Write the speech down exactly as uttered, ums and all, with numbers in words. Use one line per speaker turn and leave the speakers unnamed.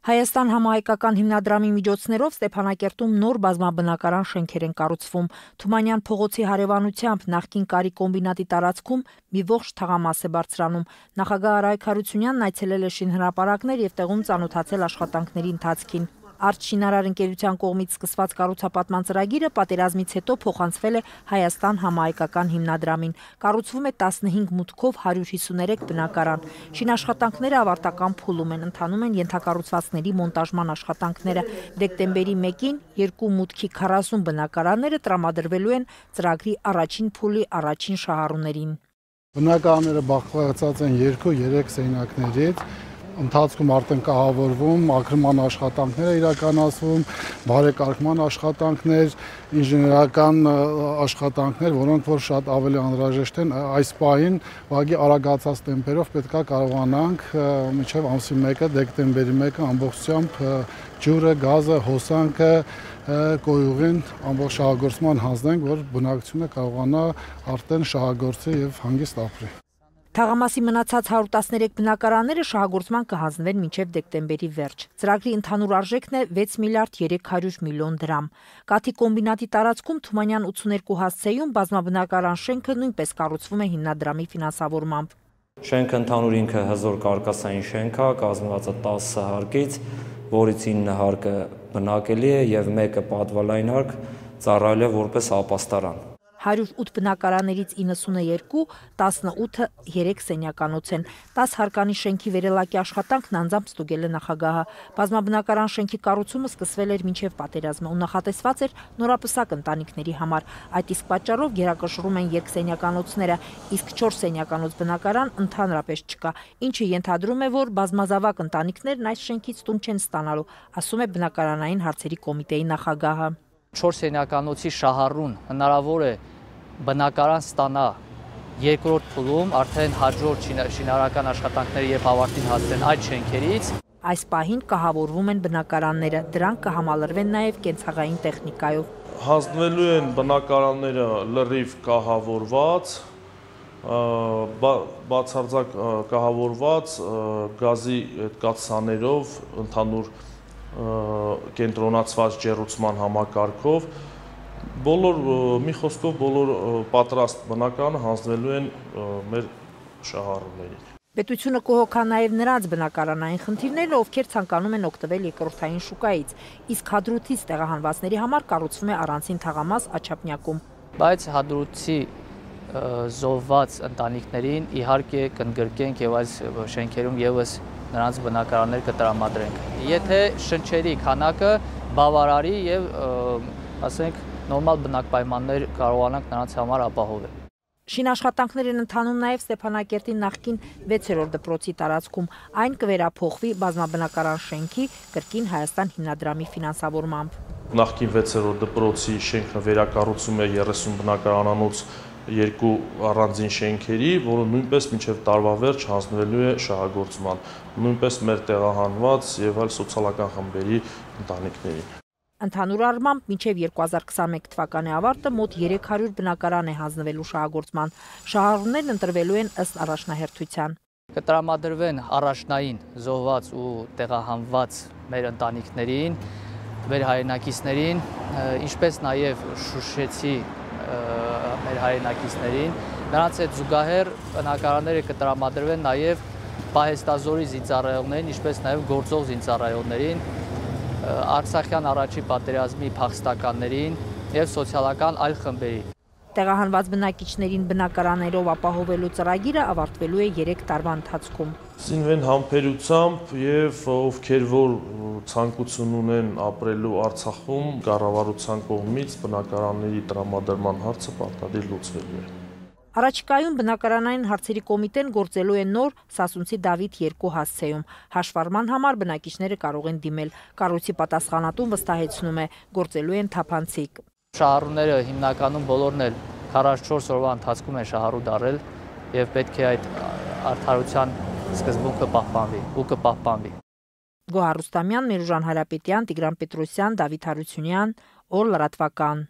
Հայաստան համահայկական հիմնադրամի միջոցներով Ստեփանակերտում նոր բազմաբնակարան շենքեր են կառուցվում։ Թումանյան փողոցի հարևանությամբ նախկին կարի կոմբինատի տարածքում մի ողջ թաղամաս է բարձրանում։ Նախագահ Արայք Հարությունյանն այցելել է շինհրապարակներ եւ տեղում ծանոթացել աշխատանքների ընթացքին։ Արտշինարար ընկերության կողմից սկսված կառուցապատման ծրագիրը պատերազմից հետո փոխանցվել է Հայաստան համահայկական հիմնադրամին։ Կառուցվում է տասնհինգ մուտքով հարյուր հիսուներեք բնակարան։ Շինաշխատանքները ավարտական փուլում են, ընթանում են ենթակառուցվածքների մոնտաժման աշխատանքները։ Դեկտեմբերի մեկին երկու մուտքի քառասուն բնակարանները տրամադրվելու են ծրագրի առաջին փուլի առաջին շահառուներին։
Բնակարանները բաղկացած են երկու երեք սենյակներից։ Ընթացքում արդեն կահավորվում, ակրման աշխատանքներ իրականացվում, բարեկարգման աշխատանքներ, ինժեներական աշխատանքներ, որոնք որ շատ ավելի անհրաժեշտ են այս պահին, ուղղակի արագացած տեմպերով պետք է կարողանանք մինչև ամսի մեկը, դեկտեմբերի մեկը ամբողջությամբ ջուրը, գազը, հոսանքը, կոյուղին ամբողջ շահագործման հանձնենք, որ բնակչությունը կարողանա արդեն շահագործի եւ հանգիստ ապրի։
Թաղամասի մնացած հարյուր տասներեք բնակարանները շահագործման կհանձնվեն մինչև դեկտեմբերի վերջ։ Ծրագրի ընդհանուր արժեքն է վեց միլիարդ երեք հարյուր միլիոն դրամ։ Կաթի կոմբինատի տարածքում Թումանյան ութսուներկու հասցեում բազմաբնակարան շենքը նույնպես կառուցվում է հիմնադրամի ֆինանսավորմամբ։
Շենքը ընդհանուր ինքը հզոր կարկասային շենք է, կազմված է տասը հարկից, որից ինը հարկը բնակելի է եւ մեկը պատվալային հարկ ծառայել է որպես ապաստարան։
հարյուր ութ բնակարաններից իննսուններկու, տասնութը երեք սենյականոց են։ տասը հարկանի շենքի վերելակի աշխատանքն անձամբ ստուգել է նախագահը։ Բազմաբնակարան շենքի կառուցումը սկսվել էր մինչև պատերազմը ու նախատեսված էր նորապսակ ընտանիքների համար։ Այդ իսկ պատճառով գերակշռում են երկսենյականոցները, իսկ չորս սենյականոց բնակարան ընդհանրապես չկա, ինչը ենթադրում է, որ բազմազավակ ընտանիքներն այս շենքից տուն չեն ստանալու, ասում է բնակարանային հարցերի կոմիտեի նախագահը։
չորս սենյականոցի շահառուն հնարավոր է բնակարան ստանա երկրորդ փուլում, արդեն հաջորդ շինարարական աշխատանքները երբ ավարտին հասնեն այդ շենքերից։
Այս պահին կահավորվում են բնակարանները, դրանք կհամալրվեն նաև կենցաղային տեխնիկայով։
Հանձնվելու են բնակարանները լրիվ կահավորված, բացարձակ կահավորված գազի կաթսաներով, ընդհանուր կենտրոնացված ջեռուցման համակարգով, բոլոր մի խոսքով բոլոր պատրաստ բնակարանը հանձնվելու են մեր շահառուներին։
Պետությունը կհոգա նաև նրանց բնակարանային խնդիրները, ովքեր ցանկանում են օգտվել երկրորդային շուկայից, իսկ հադրութից տեղահանվածների համար կառուցվում է առանցին թաղամաս Աչափնյակում։
Բայց հադրութի զոհված ընտանիքներին իհարկե կընդգրկենք եւ այս շենքերում եւս նրանց բնակարաններ կտրամադրենք։ Եթե շնչերի քանակը բավարարի եւ ասենք նորմալ բնակպայմաններ կարողանանք նրանց համար ապահովել։
Շինաշխատանքներ են ընթանում նաև Ստեփանակերտի նախկին վեցերորդ դպրոցի տարածքում, այն կվերափոխվի բազմաբնակարան շենքի կրկին Հայաստան հիմնադրամի ֆինանսավորմամբ։
Նախկին վեցերորդ դպրոցի շենքը վերակառուցում է երեսուն բնակարանանոց երկու առանձին շենքերի, որը նույնպես մինչև տարվա վերջ հանձնվելու է շահագործման, նույնպես մեր տեղահանված եւ այլ սոցիալական խմբերի ընտանիքներին։
Ընդհանուր առմամբ մինչև երկու հազար քսաներկու թվականի ավարտը մոտ երեք հարյուր բնակարան է հանձնվելու շահագործման։ Շահառուներն ընտրվելու են ըստ առաջնահերթության։
Կտրամադրվեն առաջնային զոհված ու տեղահանված մեր ընտանիքներին, մեր հայրենակիցներին, ինչպես նաև շուշեցի մեր հայրենակիցներին, նրանց հետ զուգահեռ բնակարանները կտրամադրվեն նաև պահեստազորի զինծառայողներին, ինչպես նաև գործող զինծառայողներին, Արցախյան առաջի պատերազմի փախստականներին եւ սոցիալական այլ խմբերին։
Տեղահանված բնակիչներին բնակարաններով ապահովելու ծրագիրը ավարտվելու է երեք տարվա ընթացքում։
Սինվեն համբերությամբ եւ ովքեր որ ցանկություն ունեն ապրելու Արցախում, կառավարության կողմից բնակարանների տրամադրման հարցը պարտադիր լուծվելու է։
Առաջիկայում բնակարանային հարցերի կոմիտեն գործելու է նոր Սասունցի Դավիթ երկու հասցեում։ Հաշվառման համար բնակիչները կարող են դիմել։ Կառույցի պատասխանատուն վստահեցնում է, գործելու են թափանցիկ։
Շահառուները հիմնականում բոլորն էլ քառասունչորս օրվա ընթացքում են շահառու դառել եւ պետք է այդ արդարության սկզբունքը պահպանվի ու կպահպանվի։
Գոհար Ռուստամյան, Միրուժան Հարապետյան, Տիգրան Պետրոսյան, Դավիթ Հարությունյան, Օր լրատվական։